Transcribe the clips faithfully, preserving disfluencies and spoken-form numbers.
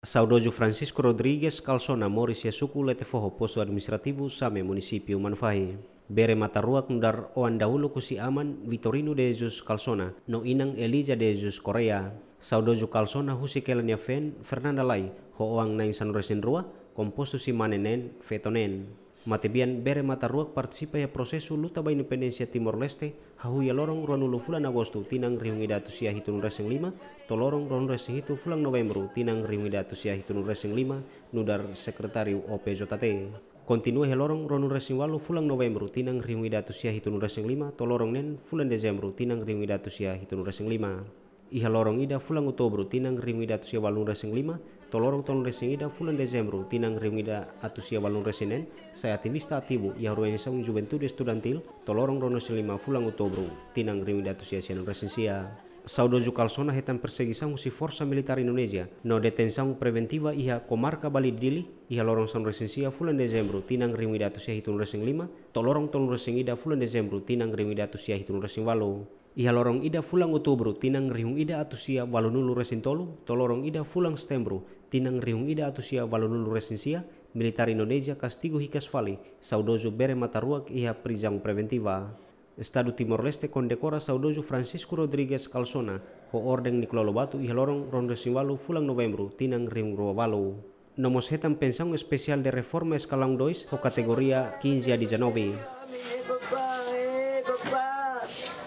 Saudozu Francisco Rodrigues Calsona moris iha suku Letefoho, postu administrativu Same, munisípiu Manufahi. Bere matan-ruak nu'udar oan dahuluk husi aman, Vitorino de Jesus Calsona, no inan, Elija de Jesus Correia. Saudozu Calsona husik hela nia feen, Fernanda Lai, ho oan na'in sanulu-resin-rua, kompostu husi mane neen, feto neen. Matebian, bere matan-ruak partisipa iha prosesu luta ba independénsia Timor-Leste, hahú iha loron ruanulu fulan Agostu tinan rihun ida atus sia hitunulu-resin-lima, to'o loron ruanulu-resin-hitu fulan Novembru tinan rihun ida atus sia hitunulu-resin-lima, nu'udar sekretáriu O P J T. Kontinua iha loron ruanulu-resin-ualu fulan Novembru tinan rihun ida atus sia hitunulu-resin-lima, to'o loron neen fulan Dezembru tinan rihun ida atus sia hitunulu-resin-lima. Iha loron ida fulan Outubru tinan rihun ida atus sia ualunulu-resin-lima, to'o loron tolunulu-resin-ida fulan Dezembru tinan rihun ida atus sia ualunulu-resin-neen, sai ativista ativu iha organizasaun Juventude Estudantil, to'o loron ruanulu-resin-lima fulan Outubru tinan rihun ida atus sia sianulu-resin-sia. Saudozu Calsona hetan persegisaun husi forsa militár Indonézia, no detensaun preventiva iha komarka Bali Dili, iha loron sanulu-resin-sia fulan Dezembru tinan rihun ida atus sia hitunulu-resin-lima, to'o loron tolunulu-resin-ida fulan Dezembru tinan rihun ida atus sia hitunulu-resin-ualu. Iha loron ida fulan Outubru tinan rihun ida atus sia ualunulu-resin-tolu, to'o loron ida fulan Setembru tinan rihun ida atus sia ualunulu-resin-sia, militár Indonézia kastigu hikas fali saudozu bere matan-ruak iha prizaun preventiva. Estadu Timor-Leste kondekora saudozu Francisco Rodrigues Calsona ho orden Nicolau Lobato iha loron ruanulu-resin-ualu fulan Novembru tinan rihun rua ualu. No mós hetan pensaun espesiál de reforma eskalaun dois ho kategoria quinze a dezanove.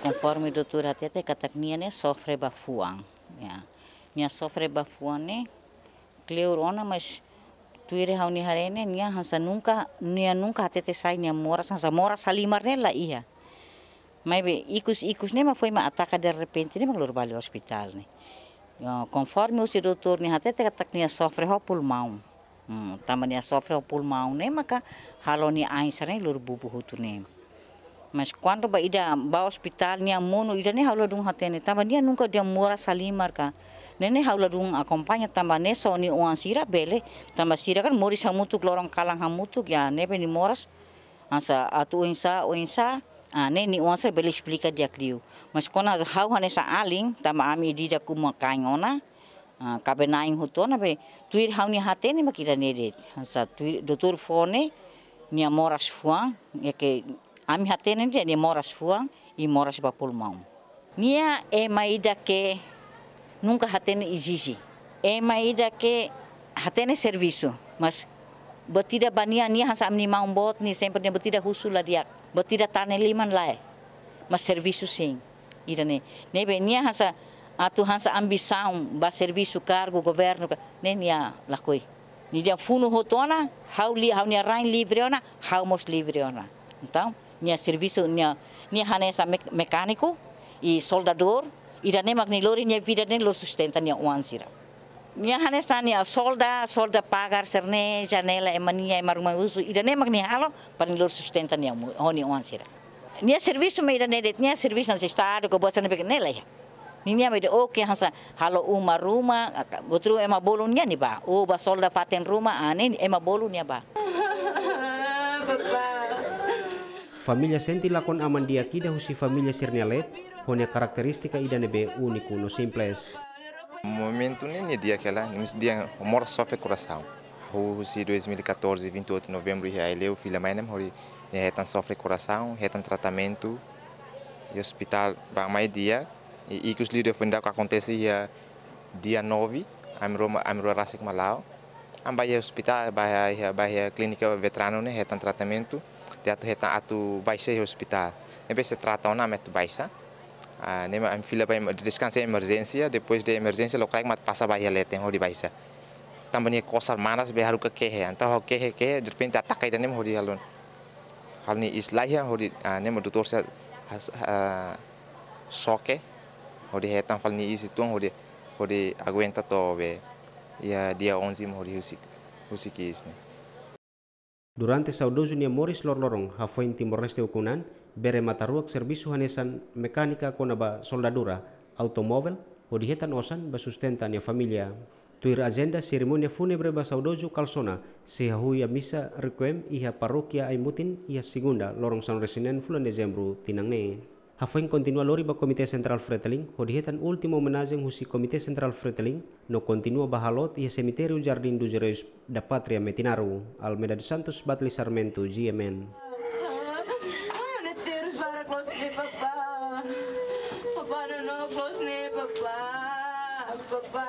Konforme doutór hatete katak nia ne'e sofre ba fuan. Ya. Nia sofre ba fuan ne'e kleur ona, mas tuir ha'u-nia haree ne'e nia hanesan nunka, nia nunka hatete sai nia moras, hanesan moras halimar ne'e la iha. Maibé ikus-ikus ne'e mak foin mak ataka derrepente ne'e mak lori ba ospitál ne'e. Ya, konforme husi doutór nia hatete katak nia sofre ho pulmaun. Hmm, tanba nia sofre ho pulmaun ne'e maka halo nia ain sira ne'e lori bubu hotu ne'e. Mas kuandu ba ida ba ospitál nia monu ida ne'e ha'u ladún hatene, tanba nia nunka dehan moras halimar ka. Ne'e ne'e ha'u ladún akompaña tanba ne'e só nia oan sira bele, tanba sira kan moris hamutuk, loron kalan hamutuk, ya ne'ebé nia moras hanesan atu oinsá, oinsá, ah, ne'e nia oan sira bele esplika di'ak liu. Mas kona ha'u hanesan alin, tanba ami ida-idak uma-kain ona, ah, kaben-na'in hotu ona be, tuir ha'u-nia hatene mak ida-ne'e de'it. Hanesan tuir doutór fó ne'e, nia moras fuan, ya ke ami hatene dehan nia moras fuan, i moras ba pulmaun. Nia ema ida ke nunka hatene ezije. Ema ida ke hatene servisu, mas buat ida ba nia, nia hanesan ami-nia maun boot ne'e sempre nia buat ida husu la di'ak, buat ida tane liman lae. Mas servisu sin. Ida-ne'e. Ne'ebé nia hanesan atu hanesan ambisaun ba servisu kargu governu ka, ne'e nia lakohi. Nia dehan funu hotu ona, ha'u li-, ha'u-nia rain livre ona, ha'u mós livre ona. Entaun, nia servisu, nia, nia hanesan mek-, mekániku i soldadór, ida-ne'e mak nia lori nia vida ne'e lori sustenta nia oan sira. Nia hanesan nia solda, solda pagar sira-ne'e, janela ema nia, ema ruma husu, ida-ne'e mak nia halo, para nia lori sustenta nia mu-, ho nia oan sira. Nia servisu mak ida-ne'e de'it, nia servisu hanesan estadu, ka buat sira-ne'ebé ke ne'e la iha. Ninia mak ida oke hanesan halo uma ruma, aka-, buat ruma ema bolu nia nia bá. Ou bá solda fatin ruma, ah, ne'e ema bolu nia bá. Família sente lakon aman di'ak ida husi família sira-nia leet, ho nia karakterístika ida ne'ebé úniku no simples. Momentu ne'e nia di'ak hela, nia mós di'ak, moras sofre korasaun. Ha'u husi dois mil e catorze, vinte e oito de novembro, iha Aileu, fila mai ne'e, hodi nia hetan sofre korasaun, hetan tratamentu, iha ospitál bá mai di'ak, i ikus liu depois ida-ne'e akontese iha dia nove, ami rua, ami rua rasik mak la'o. Ami bá iha ospitál, bá iha, bá iha klínika veteranu ne'e hetan tratamentu, dehan atu hetan atu baixa iha ospitál. Ne'ebé sei trata ona ami atu baixa. Ah, ne'e mak ami fila ba em-, deskansa iha emerjénsia, depois de emerjénsia lokraik mak pasa ba iha leten hodi baixa. Tanba nia kosar manas be haruka kehe, entaun ha'u kehe, kehe, derrepente ataka ida-ne'e mak hodi halo, halo nia iis laiha hodi, ah, ne'e mak doutór sira has-, ah, xoke, hodi hetan fali nia iis uitoan hodi, hodi aguenta to'o be iha dia onze mak hodi husik, husik iis ne'e. Durante saudozu nia moris loroloron hafoin Timor-Leste ukun an, bere matan-ruak servisu hanesan mekánika kona-ba soldadura automóvel, hodi hetan osan ba sustenta nia família. Tuir ajenda, serimónia fúnebre ba saudozu Calsona sei hahú iha misa requiem iha Parókia Aimutin iha Segunda, loron sanulu-resin-neen fulan Dezembru tinan ne'e. Hafoin kontinua lori ba Komité Sentrál Fretilin, hodi hetan últimu omenajen husi Komité Sentrál Fretilin, no kontinua ba halot iha Semitériu Jardim dos Heróis da Pátria Metinaro. Almeida dos Santos, Batli Sarmento, G M N. Ne'e terus para close ne'e, papá. Papá, no, no, close ne'e, papá. Papá.